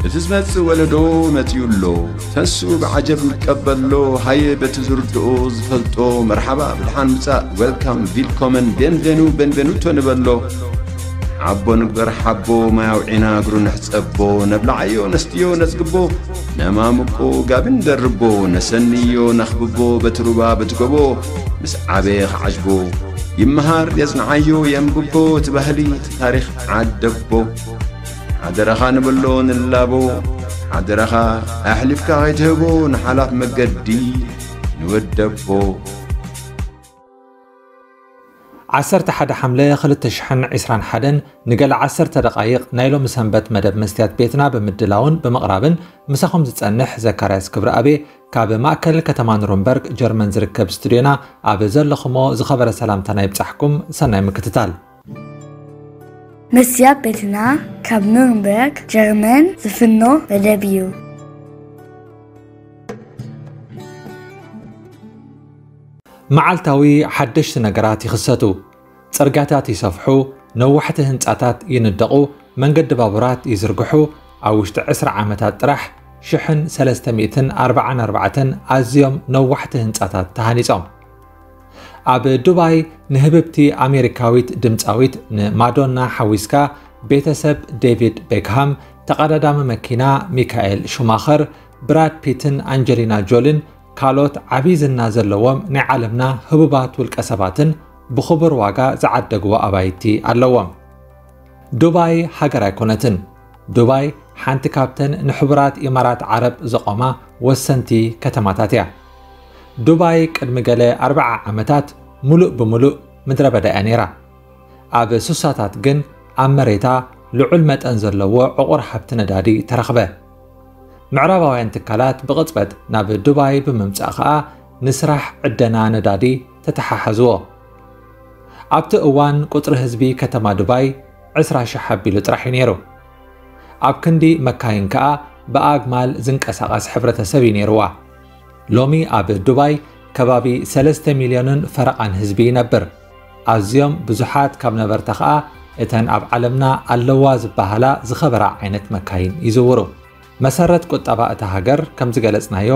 እቲ ዝመጽእ ወለዶ መጺኡ ኣሎ። ተንስኡ ብዓጀብ ንቀበሎ። ሃየ በቲ ዝርድኦ ዝፈልጦ መርሓባ ብድሓን ምጻእ፣ ዌልካም፣ ቪልኮመን፣ ቤንቬኑ፣ ቤንቬኑቶ ንበሎ። ሓቦ ንግበር ሓቦ፣ ማይ ኣውዒና እግሩ ንሕጸቦ። ነብልዓዮ ነስትዮ ነጽግቦ፣ ነማምቆ ጋቢ ንደርቦ። ነሰንዮ ነኽብቦ በቲ ሩባ በቲ ጎቦ። ምስ ዓበየ ክዓጅቦ ይመሃር የጽንዓዮ የንብቦ። እቲ ባህሊ እቲ ታሪኽ ዓደቦ። ሓደራኻ ንብሎ ንላቦ። ሓደራኻ ኣሕሊፍካ ከይትህቦ ንሓላፍ መገዲ ንወደቦ። ዓሰርተ ሓደ ሓምለ ክልተ ሽሕን ዕስራን ሓደን ንገለ ዓሰርተ ደቓይቕ ናይ ሎሚ ሰንበት መደብ መስትያት ቤትና ብምድላውን ብምቕራብን ምሳኹም ዝጸንሕ ዘካርያስ ክብረኣቤ ካብ ማእከል ከተማ ኑረምበርግ ጀርመን ዝርከብ ስቱድዮና ኣብ ዘለኹሞ ዝኸበረ ሰላምታና ይብጻሕኩም። ሰናይ ምክትታል። መስትያት ቤትና ካብ ኑረምበርግ ጀርመን ዝፍኖ መደብ እዩ። መዓልታዊ ሓደሽቲ ነገራት ይኽሰቱ። ጽርግያታት ይሰፍሑ፣ ነዋሕቲ ህንጻታት ይንደቑ፣ መንገዲ ባቡራት ይዝርግሑ። ኣብ ውሽጢ ዕስራ ዓመታት ጥራሕ ሽሕን ሰለስተ ሚእትን ኣርባዓን ኣርባዕተን ኣዝዮም ነዋሕቲ ህንጻታት ተሃኒጾም። ኣብ ዱባይ ንህብብቲ ኣሜሪካዊት ድምጻዊት ንማዶና ሓዊስካ ቤተሰብ ዴቪድ ቤክሃም ተቐዳዳሚ መኪና ሚካኤል ሹማኸር፣ ብራድ ፒትን ኣንጀሊና ጆሊን ካልኦት ዓብዪ ዝና ዘለዎም ናይ ዓለምና ህቡባት ውልቀ ሰባትን ብኽቡር ዋጋ ዝዓደግዎ ኣባይቲ ኣለዎም። ዱባይ ሃገር ኣይኮነትን። ዱባይ ሓንቲ ካብተን ንሕቡራት ኢማራት ዓረብ ዘቖማ ወሰንቲ ከተማታት እያ። ዱባይ ቅድሚ ገለ ኣርብዓ ዓመታት ሙሉእ ብሙሉእ ምድረ በዳ እያ ነይራ። ኣብ ሱሳታት ግን ኣብ መሬታ ልዑል መጠን ዘለዎ ዕቑር ሃብቲ ነዳዲ ተረኽበ። ምዕራባውያን ትካላት ብቕጽበት ናብ ዱባይ ብምምጻእ ኸኣ ንስራሕ ዕደና ነዳዲ ተተሓሓዝዎ። ኣብቲ እዋን ቁጽሪ ህዝቢ ከተማ ዱባይ ዕስራ ሽሕ ኣቢሉ ጥራሕ እዩ ነይሩ። ኣብ ክንዲ መካይን ከኣ ብኣግማል ዝንቀሳቐስ ሕብረተሰብ እዩ ነይርዋ። ሎሚ ኣብ ዱባይ ከባቢ ሰለስተ ሚልዮንን ፈረቓን ህዝቢ ይነብር። ኣዝዮም ብዙሓት ካብ ነበርታ ኸኣ እተን ኣብ ዓለምና ኣለዋ ዝበሃላ ዝኸበራ ዓይነት መካይን ይዝውሩ። መሰረት ቁጠባ እታ ሃገር ከም ዝገለጽናዮ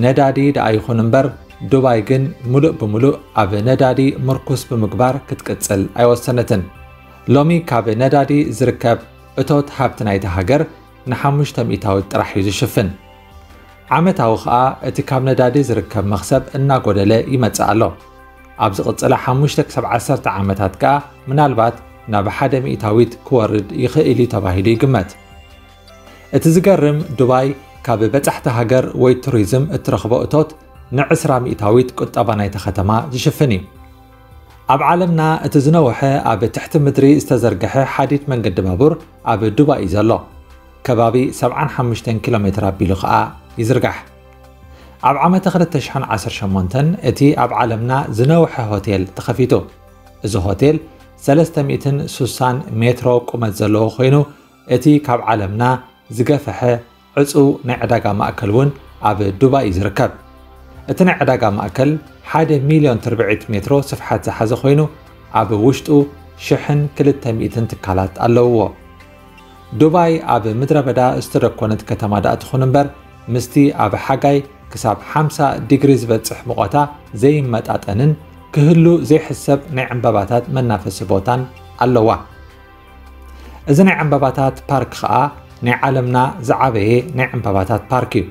ነዳዲ ደኣ ይኹን እምበር ዱባይ ግን ሙሉእ ብሙሉእ ኣብ ነዳዲ ምርኩስ ብምግባር ክትቅጽል ኣይወሰነትን። ሎሚ ካብ ነዳዲ ዝርከብ እቶት ሃብቲ ናይታ ሃገር ንሓሙሽተ ሚእታዊት ጥራሕ እዩ ዝሽፍን። ዓመታዊ ኸኣ እቲ ካብ ነዳዲ ዝርከብ መኽሰብ እናጎደለ ይመጽእ ኣሎ። ኣብ ዝቕጽላ ሓሙሽተ ክሳብ ዓሰርተ ዓመታት ከኣ ምናልባት ናብ ሓደ ሚእታዊት ክወርድ ይኽእል እዩ ተባሂሉ ይግመት። እቲ ዝገርም ዱባይ ካብ በጻሕቲ ሃገር ወይ ቱሪዝም እትረኽቦ እቶት ንዕስራ ሚእታዊት ቁጠባ ናይታ ከተማ ዝሽፍን እዩ። ኣብ ዓለምና እቲ ዝነውሐ ኣብ ትሕቲ ምድሪ ዝተዘርግሐ ሓዲድ መንገዲ ባቡር ኣብ ዱባይ እዩ ዘሎ። ከባቢ ሰብዓን ሓሙሽተን ኪሎ ሜትር ኣቢሉ ኸኣ ይዝርጋሕ። ኣብ ዓመተ ክልተ ሽሕን ዓሰርተ ሸሞንተን እቲ ኣብ ዓለምና ዝነውሐ ሆቴል ተኸፊቱ። እዚ ሆቴል ሰለስተ ሚእትን ሱሳን ሜትሮ ቁመት ዘለዎ ኮይኑ እቲ ካብ ዓለምና ዝገፈሐ ዕጹው ናይ ዕዳጋ ማእከል እውን ኣብ ዱባይ እዩ ዝርከብ። እቲ ናይ ዕዳጋ ማእከል ሓደ ሚልዮን ትርብዒት ሜትሮ ስፍሓት ዝሓዘ ኮይኑ ኣብ ውሽጡ ሽሕን ክልተ ሚእትን ትካላት ኣለውዎ። ዱባይ ኣብ ምድረ በዳ ዝተደኮነት ከተማ ደኣ ትኹን እምበር ምስቲ ኣብ ሓጋይ ክሳብ ሓምሳ ዲግሪ ዝበጽሕ ሙቐታ ዘይመጣጠንን ክህሉ ዘይሕሰብ ናይ ዕምባባታት መናፈሲ ቦታን ኣለዋ። እዚ ናይ ዕምባባታት ፓርክ ኸኣ ናይ ዓለምና ዝዓበየ ናይ ዕምባባታት ፓርክ እዩ።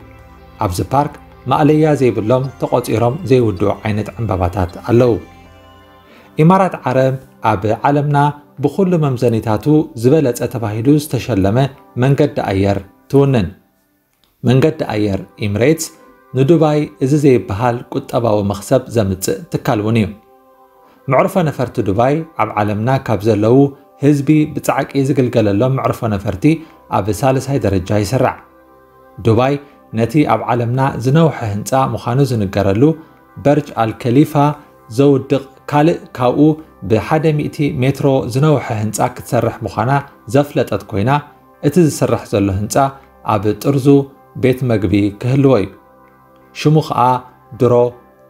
ኣብዚ ፓርክ ማእለያ ዘይብሎም ተቖጺሮም ዘይውድኡ ዓይነት ዕምባባታት ኣለዉ። ኢማራት ዓረብ ኣብ ዓለምና ብኹሉ መምዘኒታቱ ዝበለጸ ተባሂሉ ዝተሸለመ መንገዲ ኣየር ትውንን። መንገዲ ኣየር ኢምሬትስ ንዱባይ እዚ ዘይበሃል ቁጠባዊ መኽሰብ ዘምጽእ ትካል እውን እዩ። መዕርፎ ነፈርቲ ዱባይ ኣብ ዓለምና ካብ ዘለዉ ህዝቢ ብጻዕቂ ዝግልገለሎም መዕርፎ ነፈርቲ ኣብ ሳልሳይ ደረጃ ይስራዕ። ዱባይ ነቲ ኣብ ዓለምና ዝነውሐ ህንጻ ምዃኑ ዝንገረሉ በርጅ ኣል ከሊፋ ዘውድቕ ካልእ ካብኡ ብሓደ ሚእቲ ሜትሮ ዝነውሐ ህንጻ ክትሰርሕ ምዃና ዘፍለጠት ኮይና፣ እቲ ዝስራሕ ዘሎ ህንጻ ኣብ ጥርዙ ቤት መግቢ ክህልዎ እዩ። ሽሙ ኸኣ ድሮ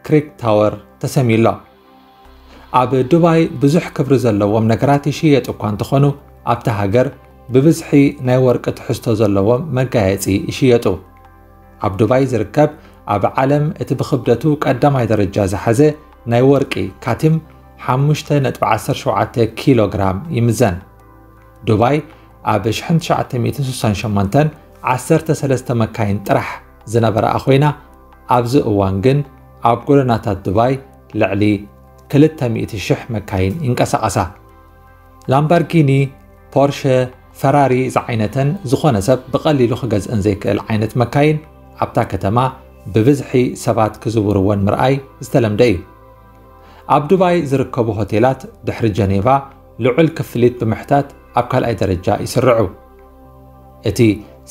ክሪክ ታወር ተሰምዩ ኣሎ። ኣብ ዱባይ ብዙሕ ክብሪ ዘለዎም ነገራት ይሽየጡ እኳ እንተኾኑ፣ ኣብታ ሃገር ብብዝሒ ናይ ወርቂ ትሕዝቶ ዘለዎም መጋየጺ ይሽየጡ። ኣብ ዱባይ ዝርከብ ኣብ ዓለም እቲ ብክብደቱ ቀዳማይ ደረጃ ዝሓዘ ናይ ወርቂ ካቲም ሓሙሽተ ነጥቢ ዓሰርተ ሸውዓተ ኪሎ ግራም ይምዘን። ዱባይ ኣብ ሺሕ ትሽዓተ ሚእትን ስሳን ሸሞንተን ዓሰርተ ሰለስተ መካይን ጥራሕ ዝነበረኣ ኮይና፣ ኣብዚ እዋን ግን ኣብ ጎደናታት ዱባይ ልዕሊ ክልተ ሚእቲ ሽሕ መካይን ይንቀሳቐሳ። ላምባርጊኒ፣ ፖርሸ፣ ፈራሪ ዝዓይነተን ዝኾነ ሰብ ብቐሊሉ ክገዝእን ዘይክእል ዓይነት መካይን ኣብታ ከተማ ብብዝሒ ሰባት ክዝውርወን ምርኣይ ዝተለምደ እዩ። ኣብ ዱባይ ዝርከቡ ሆቴላት ድሕሪ ጀኔቫ ልዑል ክፍሊት ብምሕታት ኣብ ካልኣይ ደረጃ ይስርዑ። እቲ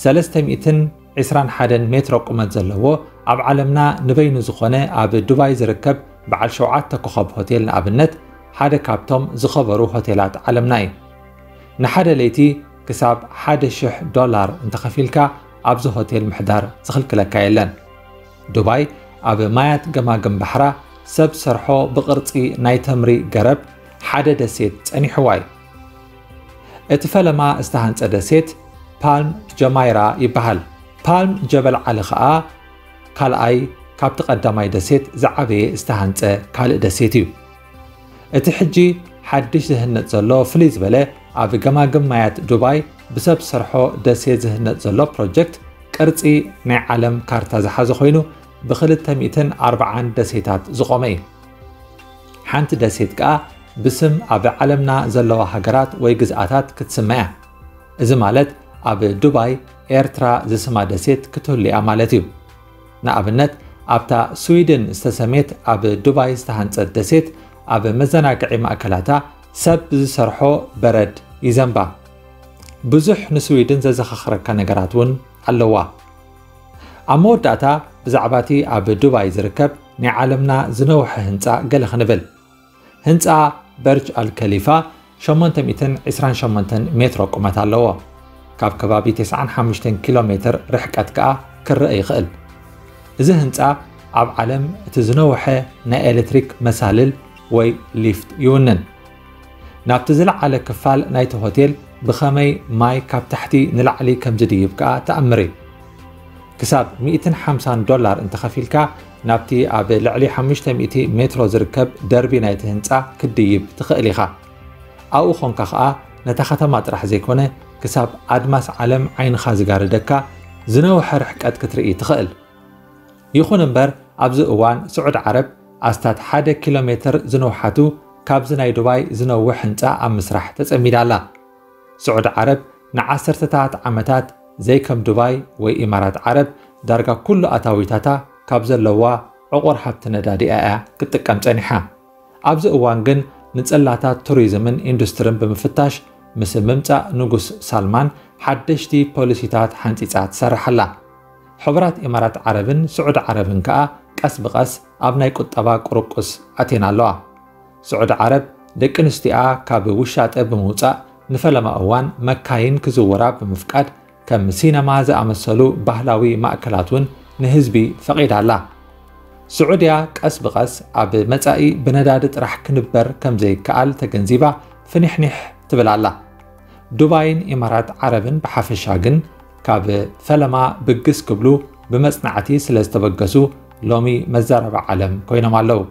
ሰለስተ ሚእትን ዕስራን ሓደን ሜትሮ ቁመት ዘለዎ ኣብ ዓለምና ንበይኑ ዝኾነ ኣብ ዱባይ ዝርከብ በዓል ሸውዓተ ኮኸብ ሆቴል ንኣብነት ሓደ ካብቶም ዝኸበሩ ሆቴላት ዓለምና እዩ። ንሓደ ለይቲ ክሳብ ሓደ ሽሕ ዶላር እንተኸፊልካ ኣብዚ ሆቴል ምሕዳር ዝኽልክለካ የለን። ዱባይ ኣብ ማያት ገማግም ባሕራ ሰብ ሰርሖ ብቕርጺ ናይ ተምሪ ገረብ ሓደ ደሴት ጸኒሕዋ እዩ። እቲ ፈለማ ዝተሃንጸ ደሴት ፓልም ጀማይራ ይበሃል። ፓልም ጀበል ዓሊ ኸኣ ካልኣይ ካብቲ ቀዳማይ ደሴት ዝዓበየ ዝተሃንጸ ካልእ ደሴት እዩ። እቲ ሕጂ ሓድሽ ዝህነጽ ዘሎ ፍልይ ዝበለ ኣብ ገማግም ማያት ዱባይ ብሰብ ሰርሖ ደሴት ዝህነጽ ዘሎ ፕሮጀክት ቅርጺ ናይ ዓለም ካርታ ዝሓዘ ኮይኑ ብክልተ ሚእትን ኣርባዓን ደሴታት ዝቖመ እዩ። ሓንቲ ደሴት ከኣ ብስም ኣብ ዓለምና ዘለዋ ሃገራት ወይ ግዝኣታት ክትስመ እያ። እዚ ማለት ኣብ ዱባይ ኤርትራ ዝስማ ደሴት ክትህሉ እያ ማለት እዩ። ንኣብነት ኣብታ ስዊድን ዝተሰሜት ኣብ ዱባይ ዝተሃንጸት ደሴት ኣብ መዘናግዒ ማእከላታ ሰብ ብዝሰርሖ በረድ ይዘንባ። ብዙሕ ንስዊድን ዘዘኻኽረካ ነገራት እውን ኣለዋ። ኣብ መወዳእታ ብዛዕባ እቲ ኣብ ዱባይ ዝርከብ ናይ ዓለምና ዝነውሐ ህንጻ ገለ ክንብል። ህንጻ በርጅ ኣልከሊፋ ሸሞንተ ሚእትን ዕስራን ሸሞንተን ሜትሮ ቁመት ኣለዎ። ካብ ከባቢ ተስዓን ሓሙሽተን ኪሎ ሜትር ርሕቀት ከኣ ክረአ ይኽእል። እዚ ህንጻ ኣብ ዓለም እቲ ዝነውሐ ናይ ኤሌክትሪክ መሳልል ወይ ሊፍት ይውንን። ናብቲ ዝለዓለ ክፋል ናይቲ ሆቴል ብኸመይ ማይ ካብ ታሕቲ ንላዕሊ ከም ዝድይብ ከኣ ተኣምር እዩ። ክሳብ ሚእትን ሓምሳን ዶላር እንተኸፊልካ ናብቲ ኣብ ልዕሊ ሓሙሽተ ሚእቲ ሜትሮ ዝርከብ ደርቢ ናይቲ ህንጻ ክትድይብ ትኽእል ኢኻ። ኣብኡ ኾንካ ኸኣ ነታ ከተማ ጥራሕ ዘይኮነ ክሳብ ኣድማስ ዓለም ዓይንኻ ዝጋርደካ ዝነውሐ ርሕቀት ክትርኢ ትኽእል። ይኹን እምበር ኣብዚ እዋን ስዑድ ዓረብ ኣስታት ሓደ ኪሎ ሜትር ዝንውሓቱ ካብዚ ናይ ዱባይ ዝነውሕ ህንጻ ኣብ ምስራሕ ተጸሚዳ ኣላ። ስዑድ ዓረብ ንዓሰርተታት ዓመታት ዘይከም ዱባይ ወይ ኢማራት ዓረብ ዳርጋ ኩሉ ኣታዊታታ ካብ ዘለዋ ዕቑር ሃብቲ ነዳዲ እያ ክትጥቀም ጸኒሓ። ኣብዚ እዋን ግን ንጽላታት ቱሪዝምን ኢንዱስትርን ብምፍታሽ ምስ ምምጻእ ንጉስ ሳልማን ሓደሽቲ ፖሊሲታት ሓንጺጻ ትሰርሕ ኣላ። ሕቡራት ኢማራት ዓረብን ስዑድ ዓረብን ከኣ ቀስ ብቐስ ኣብ ናይ ቁጠባ ቁርቁስ ኣትየን ኣለዋ። ስዑድ ዓረብ ደቂ ኣንስትዮኣ ካብ ውሻጠ ብምውጻእ ንፈለማ እዋን መካይን ክዝውራ ብምፍቃድ ከም ሲነማ ዝኣመሰሉ ባህላዊ ማእከላት እውን ንህዝቢ ፈቒዳ ኣላ። ስዑድያ ቀስ ብቐስ ኣብ መጻኢ ብነዳዲ ጥራሕ ክንበር ከም ዘይከኣል ተገንዚባ ፍኒሕኒሕ ትብል ኣላ። ዱባይን ኢማራት ዓረብን ብሓፈሻ ግን ካብ ፈለማ ብግስ ክብሉ ብመጽናዕቲ ስለ ዝተበገሱ ሎሚ መዛረቢ ዓለም ኮይኖም ኣለዉ።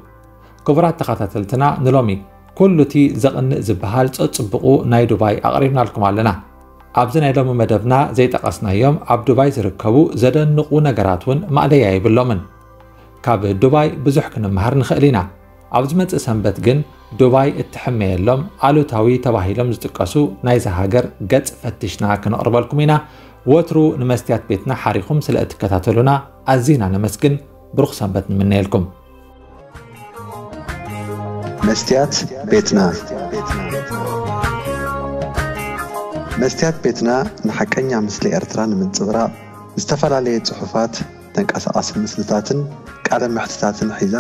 ክቡራት ተኸታተልትና ንሎሚ ኩሉ እቲ ዘቕንእ ዝበሃል ጸጽብቑ ናይ ዱባይ ኣቕሪብናልኩም ኣለና። ኣብዚ ናይ ሎሚ መደብና ዘይጠቐስናዮም ኣብ ዱባይ ዝርከቡ ዘደንቑ ነገራት እውን ማእለያ የብሎምን። ካብ ዱባይ ብዙሕ ክንመሃር ንኽእል ኢና። ኣብ ዝመጽእ ሰንበት ግን ዱባይ እትሕመየሎም ኣሉታዊ ተባሂሎም ዝጥቀሱ ናይዛ ሃገር ገጽ ፈቲሽና ክነቕርበልኩም ኢና። ወትሩ ንመስትያት ቤትና ሓሪኹም ስለ እትከታተሉና ኣዚና ነመስግን። ብሩኽ ሰንበት ንምነየልኩም። መስትያት ቤትና። መስትያት ቤትና ንሓቀኛ ምስሊ ኤርትራ ንምንጽብራቕ ዝተፈላለየ ጽሑፋት፣ ተንቀሳቓሲ ምስልታትን ቃለ መሕትታትን ሒዛ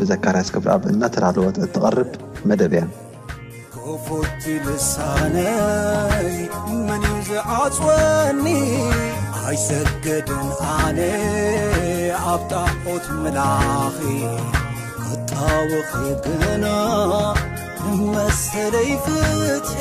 ብዘካርያስ ክብረኣብ እናተዳለወት እትቐርብ መደብ እያ። ክፉት ልሳነይ መን እዩ ዝዓጽወኒ? ኣይሰገድን ኣነ ኣብ ጣዖት ምላኺ ክጣወኺ ግና መሰለይ ፍትሒ